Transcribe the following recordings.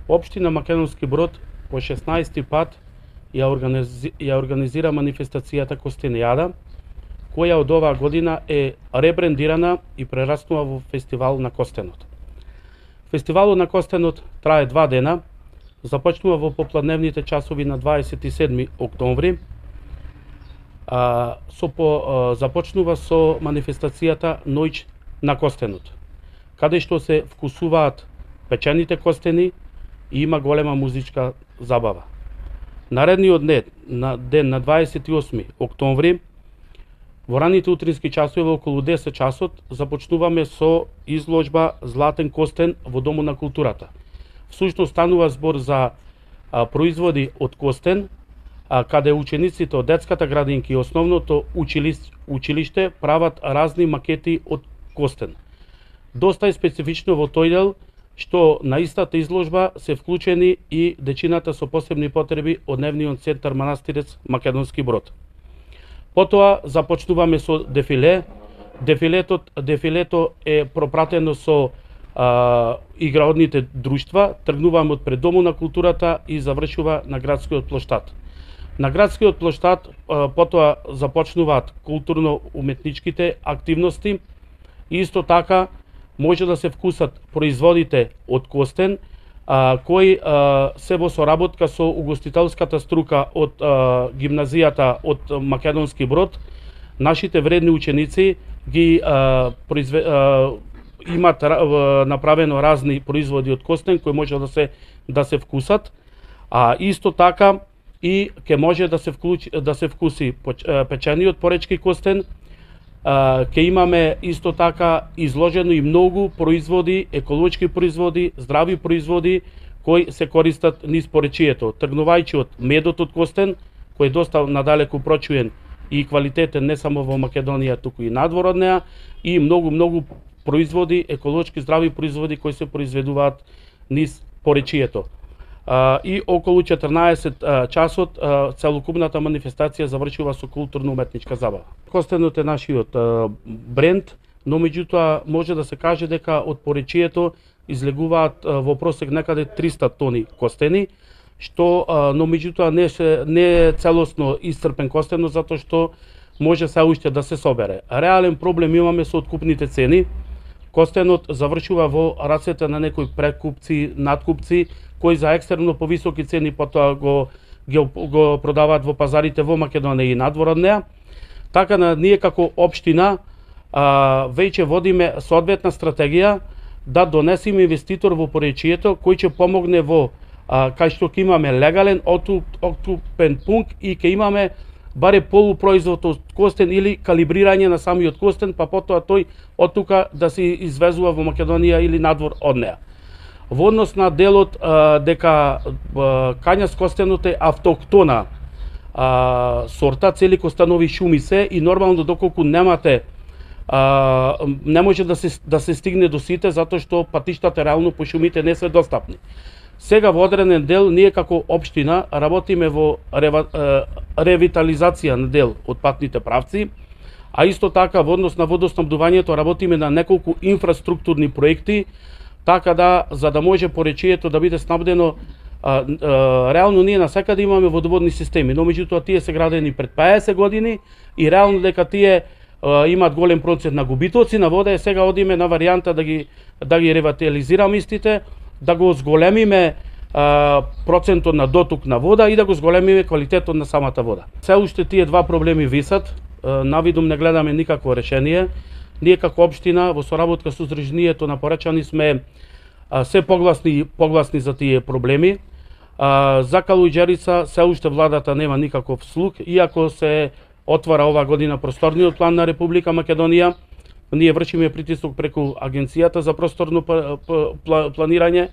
Општина Македонски Брод по 16-ти пат ја организира манифестацијата Костенијада, која од оваа година е ребрендирана и прераснува во фестивал на костенот. Фестивалот на костенот трае 2 дена, започнува во попладневните часови на 27 октомври, започнува со манифестацијата Ноќ на костенот, каде што се вкусуваат печените костени и има голема музичка забава. Наредниот ден на 28 октомври, во раните утрински часови околу 10 часот започнуваме со изложба Златен костен во Домот на културата. Всушност станува збор за производи од костен, каде учениците од детската градинка и основното училиште прават разни макети од костен. Доста е специфично во тој дел што на истата изложба се вклучени и дечината со посебни потреби од Дневниот центар Манастирец Македонски Брод. Потоа започнуваме со дефиле. Дефилето е пропратено со играодните друштва, тргнуваме од пред Домот на културата и завршува на градскиот плоштад. На градскиот плоштад потоа започнуваат културно-уметничките активности и исто така може да се вкусат производите од костен, кои се во соработка со угостителската струка од гимназијата од Македонски Брод. Нашите вредни ученици ги имат направено разни производи од костен кои може да се вкусат, а исто така и ќе може да се вкуси печениот поречки костен. Ќе имаме исто така изложено и многу производи, еколошки производи, здрави производи кои се користат низ поречието, тргнувајќи од медот од костен, кој е доста надалеку прочуен и квалитетен не само во Македонија, туку и надвор од неа, и многу производи, еколошки здрави производи кои се произведуваат низ поречието. И околу 14 часот целокупната манифестација завршува со културно-уметничка забава. Костенот е нашиот бренд, но меѓутоа може да се каже дека од поречието излегуваат во просек некаде 300 тони костени, но меѓутоа не е целосно исцрпен костенот затоа што може се уште да се собере. Реален проблем имаме со откупните цени. Костенот завршува во рацете на некои прекупци, надкупци, кои за екстерно повисоки цени потоа го продаваат во пазарите во Македонија и надвор од неа. Така ние како општина веќе водиме соодветна стратегија да донесеме инвеститор во поречието кој ќе помогне во кај што ќе имаме легален откупен пункт и ќе имаме баре полупроизвод од костен или калибрирање на самиот костен, па потоа тој од тука да се извезува во Македонија или надвор од неа. Во однос на делот дека кањас костенот е автоктона сорта, цели костанови шуми се и нормално доколку немате не може да се стигне до сите затоа што патиштата реално по шумите не се достапни. Сега во одреден дел ние како општина работиме во ревитализација на дел од патните правци, а исто така во однос на водоснабдувањето работиме на неколку инфраструктурни проекти, така за да може поречието да биде снабдено. Реално ние насекаде имаме водоводни системи, но меѓутоа тие се градени пред 50 години и реално дека тие имаат голем процент на губитоци на вода, сега одиме на варијанта да ги ревитализираме истите, да го зголемиме процентот на доток на вода и да го зголемиме квалитетот на самата вода. Се уште тие два проблеми висат, навидум не гледаме никакво решение. Ние како општина во соработка со Здруженијето на поречани сме се погласни за тие проблеми. За Калуѓерица се уште владата нема никаков слух, иако се отвара ова година просторниот план на Република Македонија. Ние вршиме притисок преку Агенцијата за просторно планирање,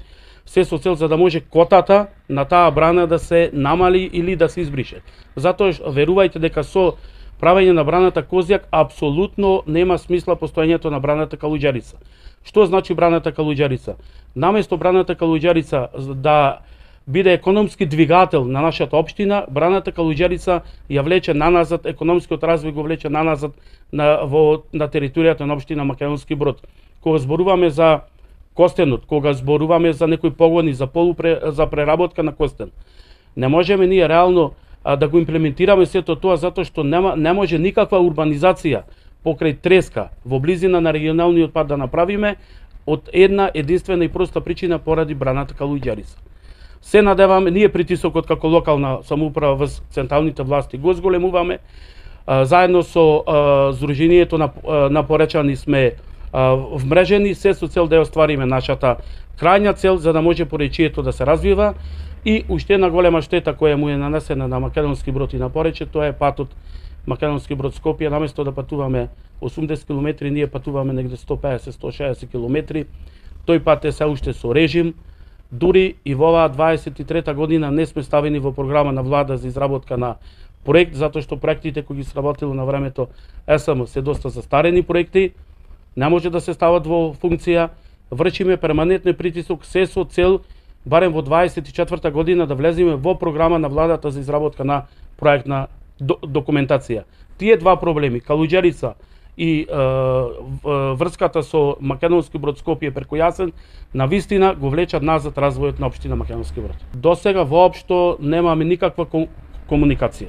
се со цел за да може котата на таа брана да се намали или да се избрише. Затоа верувајте дека со правење на браната Козјак апсолутно нема смисла постоењето на браната Калуѓерица. Што значи браната Калуѓерица? Наместо браната Калуѓерица да биде економски двигател на нашата општина, браната Калуѓерица ја влече наназад, економскиот развој го влече наназад на територијата на општина Македонски Брод. Кога зборуваме за костенот, кога зборуваме за некои погони за за преработка на костен. Не можеме ние реално да го имплементираме сето тоа затоа што не може никаква урбанизација покрај Треска во близина на регионалниот пат да направиме од една единствена и проста причина поради браната Калуѓерица. Се надеваме, ние притисокот како локална самоуправа во централните власти го зголемуваме. Заедно со Сдруженијето на поречани сме вмрежени, се со цел да ја оствариме нашата крајна цел за да може поречието да се развива. И уште една голема штета која му е нанесена на Македонски Брод и на Порече, тоа е патот Македонски Брод Скопје. Наместо да патуваме 80 км, ние патуваме негде 150-160 км. Тој пат е се уште со режим. Дури и во оваа 23-та година не сме ставени во програма на влада за изработка на проект, затоа што проектите кои ги сработило на времето ЕСМ се доста застарени проекти, не може да се стават во функција. Вршиме перманентен притисок се со цел барем во 24-та година да влеземе во програма на владата за изработка на проектна документација. Тие два проблеми, Калуѓерица и врската со Македонски Брод Скопје преку Јасен, на вистина го влечат назад развојот на општина Македонски Брод. До сега воопшто немаме никаква комуникација.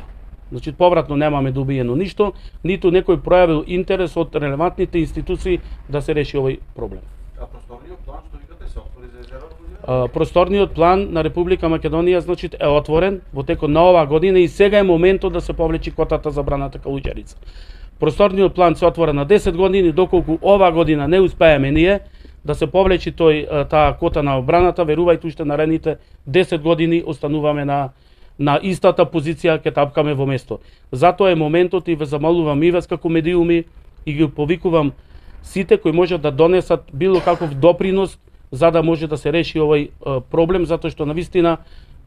Значи, повратно немаме добиено ништо, ниту некој пројавил интерес од релевантните институции да се реши овој проблем. А просторниот план што викате се отвори за езеро? Просторниот план на Република Македонија значи е отворен во текот на оваа година и сега е моментот да се повлечи котата за браната Калуѓерица. Просторниот план се отвора на 10 години, доколку оваа година не успееме ние да се повлечи таа кота на браната, верувајте уште наредните 10 години остануваме на истата позиција, ќе тапкаме во место. Затоа е моментот и ве замолувам и вас како медиуми и ги повикувам сите кои можат да донесат било каков допринос за да може да се реши овој проблем, затоа што навистина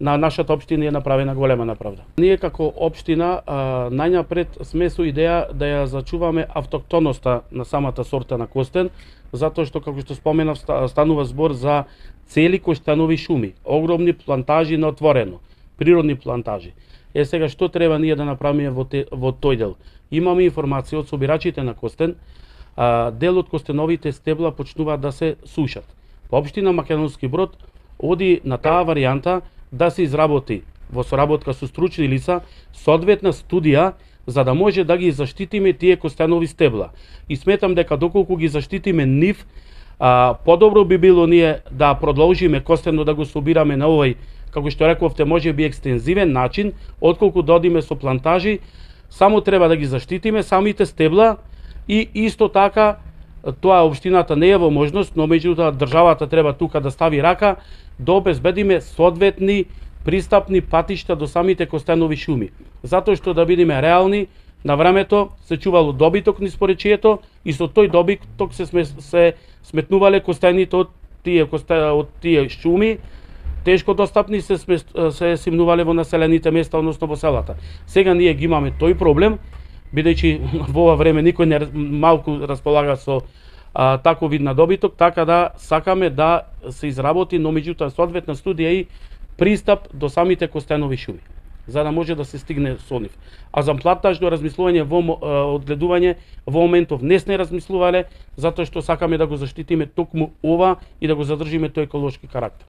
на нашата општина е направена голема неправда. Ние како општина најнапред сме со идеја да ја зачуваме автоктоноста на самата сорта на костен, затоа што како што споменав станува збор за цели коштенови шуми, огромни плантажи на отворено, природни плантажи. Сега што треба ние да направиме во тој дел? Имаме информација од собирачите на костен, дел од костеновите стебла почнуваат да се сушат. По општина Македонски Брод оди на таа варијанта да се изработи во соработка со стручни лица соодветна студија за да може да ги заштитиме тие костенови стебла. И сметам дека доколку ги заштитиме нив, подобро би било ние да продолжиме костено да го собираме на овој, како што рековте, може би екстензивен начин, отколку да одиме со плантажи. Само треба да ги заштитиме самите стебла и исто така тоа општината не е во можност, но меѓутоа државата треба тука да стави рака да обезбедиме соодветни пристапни патишта до самите костенови шуми. Затоа што да бидеме реални, на времето се чувало добиток низ поречието и со тој добиток се сметнувале костените од тие шуми, тешко достапни се симнувале во населените места, односно во селата. Сега ние ги имаме тој проблем, бидејќи во ова време никој не малку располага со таков вид на добиток, така да сакаме да се изработи, но меѓутоа соодветна студија и пристап до самите костенови шуми, за да може да се стигне со нив. А за плантажно размислување одгледување во моментов не сме размислувале, затоа што сакаме да го заштитиме токму ова и да го задржиме тој еколошки карактер.